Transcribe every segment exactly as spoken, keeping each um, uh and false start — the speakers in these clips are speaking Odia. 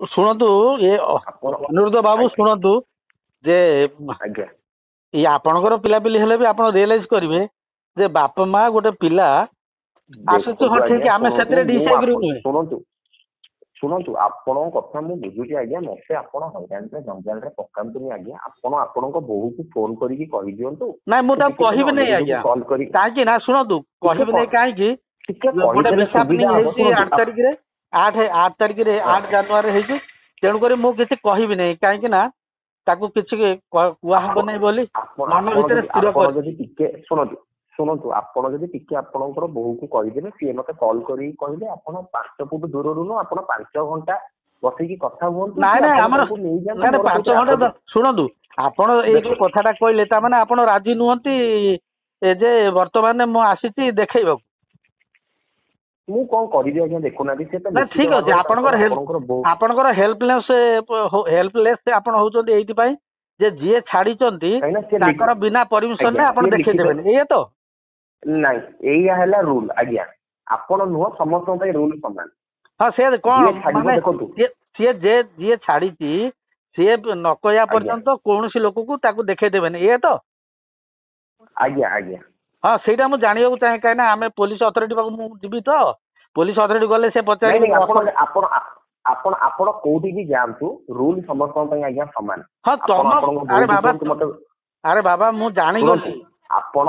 ଶୁଣନ୍ତୁ ଏ ଆପଣ ଅନିରୁଦ୍ଧ ବାବୁ ଆଜ୍ଞା। ଶୁଣନ୍ତୁ ଯେ ଆଜ୍ଞା ଇଏ ଆପଣଙ୍କର ପିଲାପିଲି ହେଲେ ବି ଆପଣ ରିଏଲାଇଜ କରିବେ ଯେ ବାପା ମା ଗୋଟେ ପିଲା ଆସୁଛୁ ଦେଖନ୍ତୁ ହଁ ଠିକ ଆଜ୍ଞା, ଆମେ ଶୁଣନ୍ତୁ, ସେଥିରେ ମୁଁ ଡିସଏଗ୍ରି ଆପଣ- ନୁହେଁ ଶୁଣନ୍ତୁ ଶୁଣନ୍ତୁ ଆପଣଙ୍କ କଥା ମୁଁ ବୁଝୁଛି ଆଜ୍ଞା ମତେ ଆପଣ ହଇରାଣରେ ଜଞ୍ଜାଳରେ ପକାନ୍ତୁନି ଆଜ୍ଞା ଆପଣ ଆପଣଙ୍କ ବୋହୂକୁ ଫୋନ କରିକି କହିଦିଅନ୍ତୁ ନାଇଁ ମୁଁ ତାକୁ ଟିକେ କହିବି ନାହିଁ ଆଜ୍ଞା କଲ୍ କରି କାହିଁକି ନା ଶୁଣନ୍ତୁ କହିବି ନାହିଁ କାହିଁକି ଟିକେ ଗୋଟେ କହିଦେଲେ ମିସ୍ହାପନିଂ ସୁବିଧା ହବ ହେଇଛି ଶୁଣନ୍ତୁ ଆଠ ତାରିଖରେ ଆଠ ଆଠ ତାରିଖରେ ଆଠ ଜାନୁଆରୀ ହେଇଛି ତେଣୁକରି ମୁଁ କିଛି କହିବି ନାହିଁ କାହିଁକି ନା ତାକୁ କିଛି କ- କୁହା ହବ ନାହିଁ ବୋଲି ଆପଣ ମନ ଆପଣ ଭିତରେ ଯଦି ସ୍ଥିର ଆପଣ କରିଛି ଯଦି ଟିକେ ଶୁଣନ୍ତୁ ଶୁଣନ୍ତୁ ଆପଣ ଯଦି ଟିକେ ଆପଣଙ୍କର ବୋହୂକୁ କହିଦେବେ ସିଏ ମତେ କଲ୍ କରିକି କହିଲେ ଆପଣ ପାଞ୍ଚ ଫୁଟ ଦୂରରୁ ନୁହଁ ଆପଣ ପାଞ୍ଚ ଘଣ୍ଟା ବସିକି କଥା ହୁଅନ୍ତୁ ନାଇଁ କି ନାଇଁ ଆପଣ ଆମର ତାଙ୍କୁ ନେଇଯାଆନ୍ତୁ ନାଇଁ ନାଇଁ ମୋର ପାଞ୍ଚ ସେଇଥିରେ ଘଣ୍ଟା ଆପତ୍ତି ଦ- ଶୁଣନ୍ତୁ ଆପଣ ଏଇ ଯୋଉ କଥାଟା କହିଲେ ତା ମାନେ ଆପଣ ରାଜି ନୁହନ୍ତି ଏ ଯେ ବର୍ତ୍ତମାନ ମୁଁ ଆସିଛି ଦେଖେଇବାକୁ ମୁଁ କଣ କରିବି ଆଜ୍ଞା ଦେଖୁନାହାନ୍ତି ସେ ତ ନା ଲିଖିତ ଠିକ ଅଛି ଭାବରେ ଆପଣଙ୍କର ତାଙ୍କର ହେଲ୍ପ ଆପଣଙ୍କର ବୋହୂ ଆପଣଙ୍କର ହେଲ୍ପଲେସ୍ ହେଲ୍ପଲେସ୍ ଆପଣ ହଉଛନ୍ତି ଏଇଥିପାଇଁ ଯେ ଯିଏ ଛାଡିଛନ୍ତି କାହିଁକି ନା ସେ ତାଙ୍କର ବିନା ପରମିଶନରେ ଆଜ୍ଞା, ଆପଣ ସିଏ ଦେଖେଇ ଲିଖିତ ଦେବେନି ଏଇଆ ତ ନାଇଁ ଏଇଆ ହେଲା ରୁଲ ଆଜ୍ଞା ଆପଣ ନୁହଁ ସମସ୍ତଙ୍କ ପାଇଁ ରୁଲ ସମାନ ହଁ ସେ କଣ ଯିଏ ଛାଡିବ ମାନେ ଦେଖନ୍ତୁ ସିଏ ସିଏ ଯେ ଯିଏ ଛାଡିଛି ସିଏ ନ କହିବା ଆଜ୍ଞା ପର୍ଯ୍ୟନ୍ତ କୌଣସି ଲୋକକୁ ତାକୁ ଦେଖେଇ ଦେବେନି ଏଇଆ ତ ଆଜ୍ଞା ଆଜ୍ଞା ହଁ ସେଇଟା ମୁଁ ଜାଣିବାକୁ ଚାହେଁ କାହିଁକି ନା ଆମେ ପୋଲିସ ଅଥରିଟି ପାଖକୁ ମୁଁ ଯିବି ତ ପୋଲିସ ଅଥରିଟି ଗଲେ ସେ ନାଇଁ ପଚାରିବେ ନାଇଁ ଆପଣ ଆପଣ ଆପଣ ଆପଣ କୋଉଠିକି ଯାଆନ୍ତୁ ରୁଲ ସମସ୍ତଙ୍କ ପାଇଁ ଆଜ୍ଞା ସମାନ ହଁ ଆପଣ ତମ ଆପଣଙ୍କ ଆରେ ବୋହୂକୁ ବାବା କୁହନ୍ତୁ ମତେ ଆରେ ବାବା ମୁଁ ଜାଣିଗଲି ଶୁଣନ୍ତୁ ଆପଣ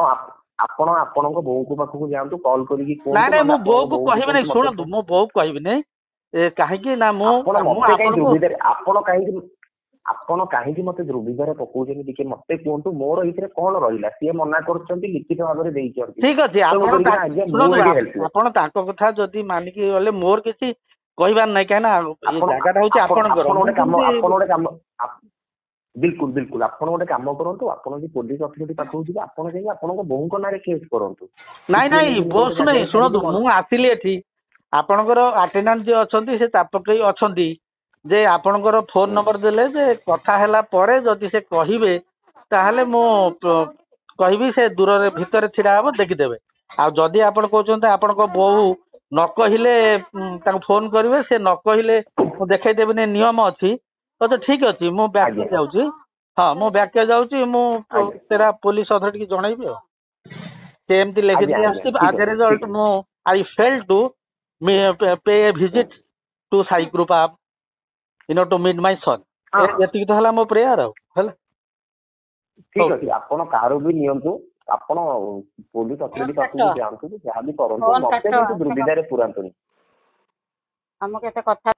ଆପଣ ଆପଣଙ୍କ ବୋହୂଙ୍କ ପାଖକୁ ଯାଆନ୍ତୁ କଲ୍ କରିକି ନାଇଁ କୁହନ୍ତୁ ନାଇଁ ନହେଲେ ମୁଁ ଆପଣଙ୍କ ବୋଉକୁ ବୋହୂକୁ କହିବି ନାହିଁ କୁହନ୍ତୁ ମତେ ଶୁଣନ୍ତୁ ମୁଁ ବୋଉକୁ କହିବି ନାହିଁ ଏ କାହିଁକି ନା ମୁଁ ଆପଣ ମୁଁ ମତେ କାହିଁ ଆପଣଙ୍କୁ ଦୁର୍ବିଧାରେ ଆପଣ କାହିଁକି ଆପଣ କାହିଁକି ମତେ ଦୁର୍ବିଧାରେ ପକଉଛନ୍ତି ଟିକେ ମତେ କୁହନ୍ତୁ ମୋର ଏଇଥିରେ କଣ ରହିଲା ସିଏ ମନା କରୁଛନ୍ତି ଲିଖିତ ଭାବରେ ଦେଇଛନ୍ତି ଠିକ ଅଛି ତେଣୁ ଆପଣ କରିକିନା ତା- ଆଜ୍ଞା ମୁଁ ଶୁଣନ୍ତୁ ଏଠି ଆପ- ହେଲ୍ପଲେସ୍ ଆପଣ ତାଙ୍କ କଥା ଯଦି ମାନିକି ଗଲେ ମୋର କିଛି କହିବାର ନାହିଁ କାହିଁକି ନା ଏ ଆପଣ ଜାଗାଟା ହଉଛି ଆପଣ ଆପଣଙ୍କର ଆପଣ ମୁଁ ଗୋଟେ କାମ କେମିତି ଆପଣ ଗୋଟେ କାମ ଆପ- ବିଲକୁଲ ବିଲକୁଲ ଆପଣ ଗୋଟେ କାମ କରନ୍ତୁ ଆପଣ ଯଦି ପୋଲିସ ଅଥରିଟି ପାଖକୁ ଯିବେ ଆପଣ ଯାଇକି ଆପଣଙ୍କ ବୋହୂଙ୍କ ନାଁରେ କେସ୍ କରନ୍ତୁ କି ନାଇଁ ସିଏ ନାଇଁ ନେଇକି ବୋସ୍ ଗୋଟେ ନାଇଁ ଜାଗାରେ ଶୁଣନ୍ତୁ ଛାଡିକି ମୁଁ ଆସିଲି ଏଠି ଆପଣଙ୍କର ଆଟେଣ୍ଡାଣ୍ଟ ଯିଏ ଅଛନ୍ତି ସେ ଚାପ ପକେଇ ଅଛନ୍ତି ଯେ ଆପଣଙ୍କର ଫୋନ ହୁଁ। ନମ୍ବର ଦେଲେ ଯେ କଥା ହେଲା ପରେ ଯଦି ସେ କହିବେ ତାହେଲେ ମୁଁ ପ- କହିବି ସେ ଦୂରରେ ଭିତରେ ଛିଡା ହବ ଦେଖିଦେବେ ଆଉ ଯଦି ଆପଣ କହୁଛନ୍ତି ଆପଣଙ୍କ ବୋହୂ ନ କହିଲେ ଉଁ, ତାଙ୍କୁ ଫୋନ କରିବେ ସେ ନ କହିଲେ ମୁଁ ଦେଖେଇ ଦେବିନି ନିୟମ ଅଛି ତ ଠିକ ଅଛି ମୁଁ ବ୍ୟାକ୍ ଆଜ୍ଞା ଯାଉଛି ହଁ ମୁଁ ବ୍ୟାକ୍ ଯାଉଛି ମୁଁ ଆଜ୍ଞା ସେଟା ପୋଲିସ ଅଥରିଟି କି ଜଣେଇବି ଆଉ ସେ ଏମିତି ଆଜ୍ଞା ଲେଖିଦେଇ ଆଜ୍ଞା ଆସୁଛି ଠିକ ଆଜ ଏ ଅଛି ରେଜଲ୍ଟ ଠିକ ମୁଁ I fail to pay a visit to Sai Krupa you know to meet my son ହଁ ଏତିକି ତ ହେଲା ମୋ ପ୍ରେୟାର ଆଉ ହେଲା ଠିକ ହଉ ଅଛି ଆପଣ କାହାର ବି ନିଅନ୍ତୁ ଆପଣ ପୋଲିସ ଅଥରିଟି ଫୋନ ପାଖକୁ କାଟ ଯାଆନ୍ତୁ କି ଯାହା ବି କରନ୍ତୁ ଫୋନ ମତେ କାଟ କିନ୍ତୁ ଦୁର୍ବିଧାରେ ପୁରାନ୍ତୁନି ଆମକୁ ଏତେ କଥା